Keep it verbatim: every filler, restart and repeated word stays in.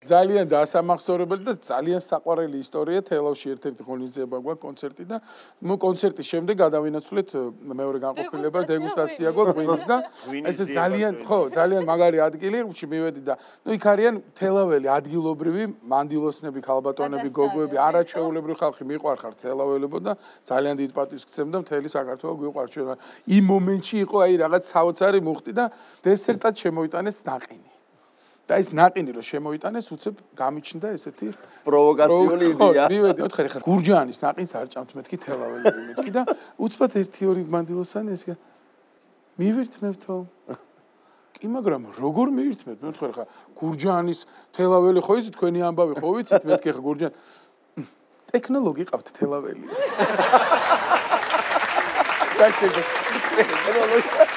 ძალიან დაასამახსოვრებელი და ძალიან საყვარელი ისტორია თელავში ერთ-ერთი ღონისძიება გვაქვს კონცერტი და ნუ კონცერტის შემდეგ გადავინაცვლეთ მეორე განყოფილება დეგუსტაცია გვაქვს ღვინის და ესე ძალიან ხო ძალიან მაგარი ადგილი მივედი და ნუ იქ არიან თელაველი ადგილობრივი მანდილოსნები ქალბატონები გოგოები არაჩვეულებრივი ხალხი მიყვარხართ თელაველებო და ძალიან დიდ პატივს გცემ და მთელი საქართველო გვიყვარს ჩვენ იმ მომენტში იყო აი რაღაც საოცარი მუხტი და დესერტად შემოიტანეს ნაყინი და ეს ნაყინი რომ შემოიტანეს უცებ გამიჩნდა ესეთი პროვოკაციული იდეა. მივედი ოთხი ხარ გურჯაანის ნაყინს არ ჭამთ მეთქი თელაველები მეთქი და უცბად ერთი ორი მანდილოსანი ეს მივირთმევთო. კი მაგრამ როგორ მივირთმევთ მე ვთქვი ხა გურჯაანის თელაველი ხო იცით თქვენი ამბავი ხო ვიცით მეთქი ხა გურჯაან ტექნოლოგი ყავთ თელაველი. და შეგე ტექნოლოგი